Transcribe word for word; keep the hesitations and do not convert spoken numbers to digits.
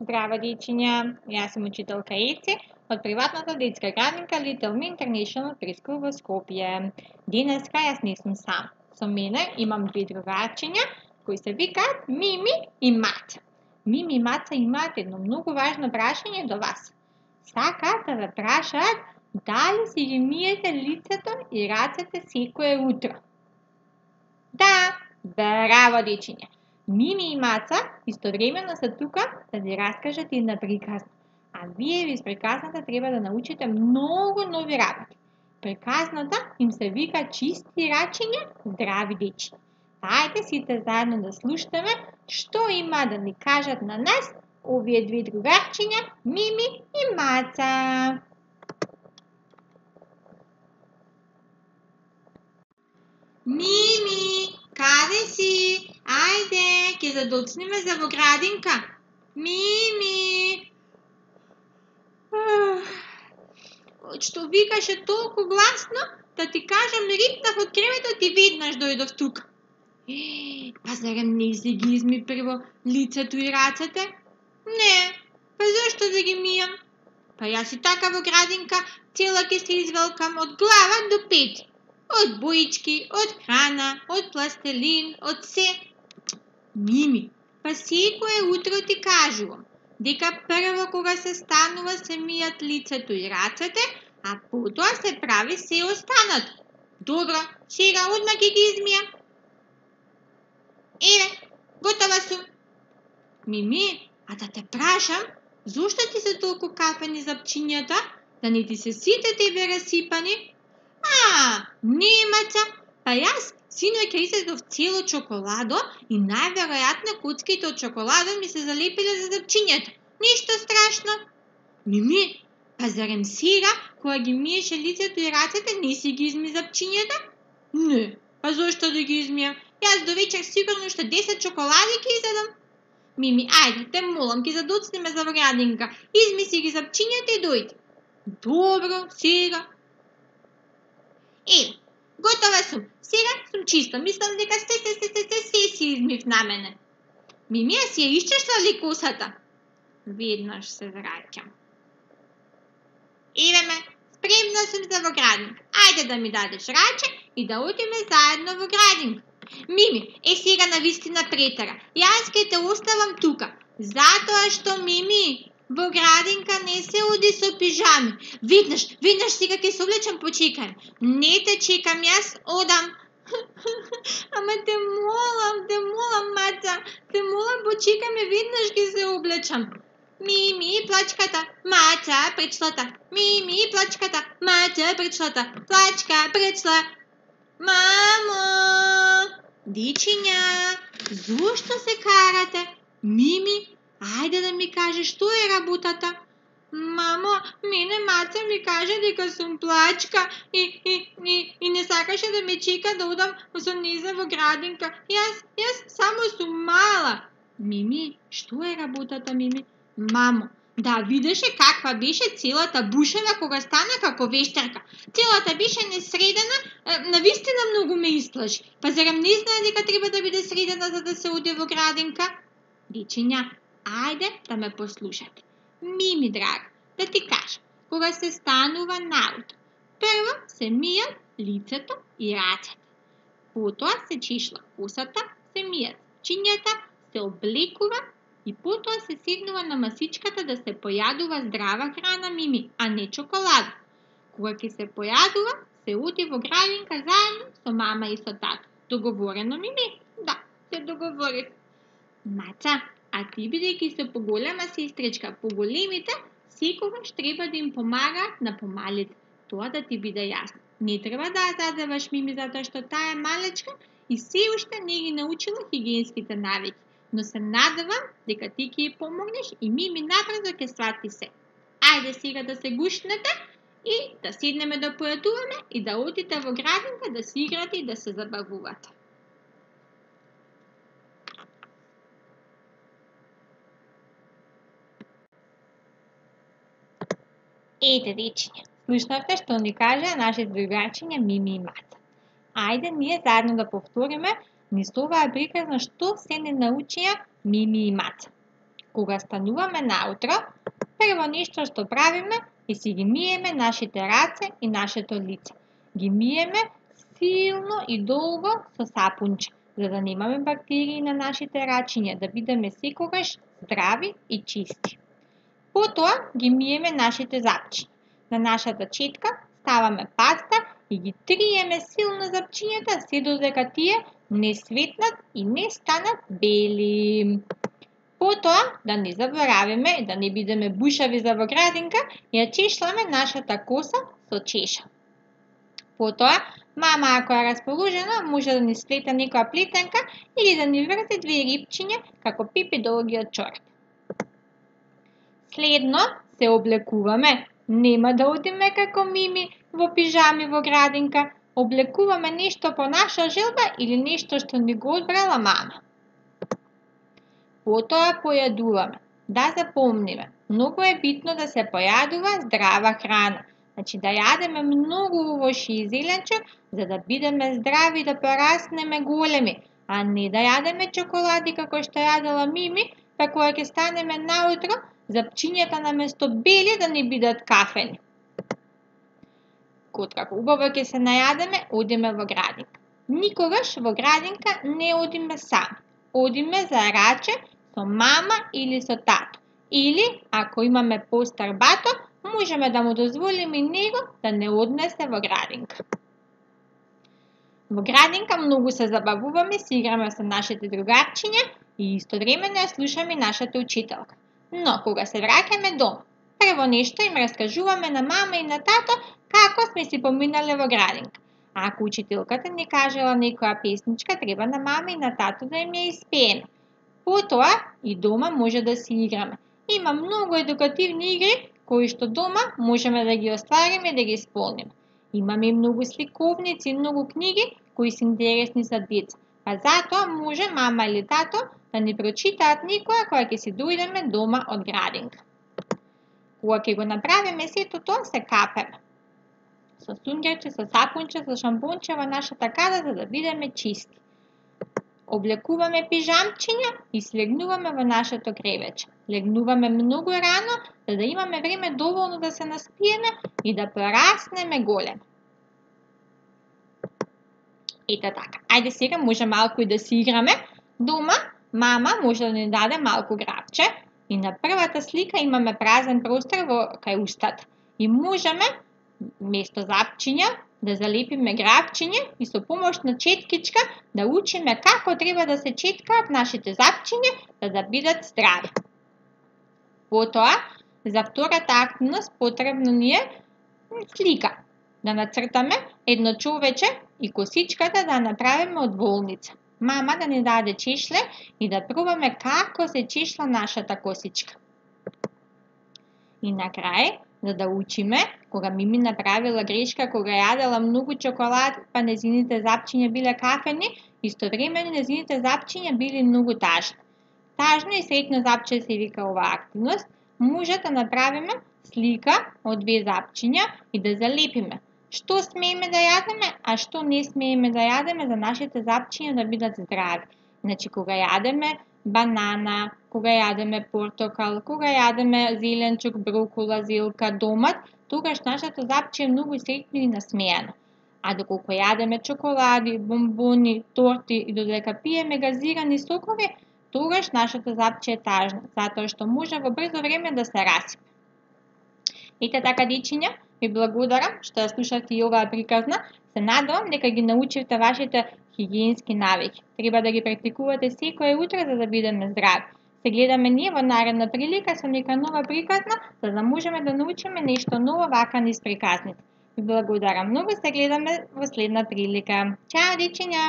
Здраво, дечиња! Јас сум учителка Еце од приватната детска градинка Little Me International Preschool во Скопје. Денеска јас не сум сам. Со мене имам две другарчиња кои се викаат Мими и Маца. Мими и Маца имаат едно многу важно прашање до вас. Сакаат да ве прашаат дали си ги миете лицето и рацете секое утро. Да, браво, дечиња! Мими и Маца истовремено се тука да ви раскажат една приказна. А вие виз приказната треба да научите многу нови работи. Приказната им се вика Чисти рачиња, здрави дечи. Ајде сите заедно да слушаме што има да ни кажат на нас овие две другарчиња Мими и Маца. Мими, каде си? Ајде, ќе задоцнеме за во градинка. Мими! Што викаше толку гласно, да ти кажам, рипнав од креветот и веднаш дојдов тука. Е, па зарем не си ги изми прво лицето и рацете? Не, па зашто да ги мијам? Па јас и така во градинка цела ќе се извелкам од глава до пет. Од боички, од храна, од пластелин, од се. Мими, па секое утро ти кажувам дека прво кога се станува се мијат лицето и рацете, а потоа се прави се останато. Добро, сега одма ќе ги измијам. Еве, готова сум. Мими, а да те прашам, зошто ти се толку капени запчињата? Да не ти се сите тебе расипани? А, не, Маца, па јас синоќа изедов цело чоколадо и најверојатно коцките од чоколадо ми се залепиле за запчињата. Ништо страшно. Мими, па зарем сега, кога ги миеше лицето и рацете, не си ги изми запчињата? Не, па зошто да ги измијам? Јас до вечер сигурно уште десет чоколади ќе изедам. Мими, ајде, те молам, ќе задоцнеме за во градинка. Изми си ги запчињата и дојди. Добро, сега. Еве, готова сум. Сега сум чиста. Мислам дека се се се се се се си измив на мене. Мими, а си ја исчешла ли косата? Веднаш се враќам. Еве ме, спремна сум за во градинка. Ајде да ми дадеш раче и да одиме заедно во градинка. Мими, е сега навистина претера. Јас ке те оставам тука. Затоа што, Мими, во градинка не се оди со пижами. Веднаш, веднаш сега ќе се облечам, почекај. Не те чекам, јас одам. Ама те молам, те молам, Маца, те молам, почекај ме, веднаш ќе се облечам. Мими, плачката, Маца, пречлата. Мими, плачката, Маца, пречлата. Плачка, пречла. Мамо! Дечиња, зошто се карате? Мими, ајде да ми кажеш што е работата. Мамо, мене Маца ми каже дека сум плачка и, и, и, и не сакаше да ме чека да одам со нејза во градинка. Јас, јас само сум мала. Мими, што е работата, Мими? Мамо, да видеше каква беше целата бушева кога стана како вештерка. Целата беше несредена, навистина многу ме исплаши. Па зарем не знае дека треба да биде средена за да се оди во градинка? Дечиња, ајде да ме послушате. Мими, драга, да ти кажам, кога се станува наутро, прво се мијат лицето и рацете. Потоа се чешла косата, се мијат чинјата, се облекува и потоа се седнува на масичката да се појадува здрава храна, Мими, а не чоколада. Кога ќе се појадува, се оди во градинка заедно со мама и со тато. Договорено, Мими? Да, се договорив. Маца, а ти бидејќи се поголема сестричка, поголемите секогаш треба да им помагаат на помалите. Тоа да ти биде јасно. Не треба да ја задеваш, Мими, затоа што таа е малечка и се уште не ги научила хигиенските навики. Но се надевам дека ти ќе ја помогнеш и Мими набрзо ќе свати се. Ајде сега да се гушнете и да седнеме да појадуваме и да одите во градинка да се играте и да се забавувате. Ете, дечиња, слушнавте што ни кажа нашите другарчиња Мими и Маца. Ајде ние заедно да повториме низ оваа приказна што се не научија Мими и Маца. Кога стануваме наутро, прво нешто што правиме е си ги миеме нашите раце и нашето лице. Ги миеме силно и долго со сапунче, за да немаме бактерии на нашите рачиња, да бидеме секогаш здрави и чисти. Потоа ги миеме нашите запчиња. На нашата четка ставаме паста и ги триеме силно запчињата се додека тие не светнат и не станат бели. Потоа, да не заборавиме, да не бидеме бушави за во градинка, ја чешламе нашата коса со чеша. Потоа, мама, ако е расположена, може да ни сплета некоја плетенка или да ни врзе две рипчиња како пипи долгиот чорап. Следно се облекуваме. Нема да одиме како мими во пижами во градинка. Облекуваме нешто по наша желба или нешто што ни го одбрала мама. Потоа појадуваме. Да запомниме, многу е битно да се појадува здрава храна. Значи да јадеме многу овошје и зеленче, за да бидеме здрави и да пораснеме големи, а не да јадеме чоколади како што јадела Мими, па кога ќе станеме наутро, запчињата наместо бели да не бидат кафени. Кога убаво ќе се најадеме, одиме во градинка. Никогаш во градинка не одиме сами. Одиме за раче со мама или со тато. Или, ако имаме постар бато, можеме да му дозволиме и него да не однесе во градинка. Во градинка многу се забавуваме, си играме со нашите другарчиња и истовремено ја слушаме нашата учителка. Но, кога се враќаме дома, прво нешто им раскажуваме на мама и на тато како сме си поминале во градинка. А ако учителката ни кажела некоја песничка, треба на мама и на тато да им ја испееме. Потоа и дома може да си играме. Има многу едукативни игри кои што дома можеме да ги оствариме и да ги исполниме. Имаме и многу сликовници и многу книги кои се интересни за деца. Па затоа може мама или тато да ни прочитаат некоја кога ќе си дојдеме дома од градинка. Кога ќе го направиме сето тоа, се капеме со сунгерче, со сапунче, со шампонче во нашата када за да бидеме чисти. Облекуваме пижамчиња и слегнуваме во нашето кревече. Легнуваме многу рано, за да имаме време доволно да се наспиеме и да пораснеме големи. Ето така. Ајде сега може малку и да си играме. Дома мама може да ни даде малку грабче и на првата слика имаме празен простор во кај устата. И можеме место запчиња да залепиме грабчиња и со помош на четкичка да учиме како треба да се четкаат нашите запчиња за да бидат здрави. Потоа, за втората активност потребно ни е слика. Да нацртаме едно човече и косичката да направиме од волница. Мама да ни даде чешле и да пробаме како се чешла нашата косичка. И на крај, за да учиме, кога Мими направила грешка, кога јадела многу чоколад, па незините запчиња биле кафени, истовремено незините запчиња били многу тажни. Тажно и сретно запче се вика оваа активност, може да направиме слика од две запчиња и да залепиме што смееме да јадеме, а што не смееме да јадеме за нашите запчиња да бидат здрави. Значи, кога јадеме банана, кога јадеме портокал, кога јадеме зеленчук, брокола, зелка, домат, тогаш нашето запче е многу сретно и насмејано. А доколку јадеме чоколади, бомбони, торти и додека пиеме газирани сокови, тогаш нашето запче е тажно, затоа што може во брзо време да се расипе. Ете така, дечиња, ви благодарам што ја слушавте и оваа приказна. Се надевам дека ги научивте вашите хигиенски навики. Треба да ги практикувате секое утро за да бидеме здрави. Се гледаме ние во наредна прилика со нека нова приказна, за да можеме да научиме нешто ново вака низ приказните. Ви благодарам многу, се гледаме во следна прилика. Чао, дечиња!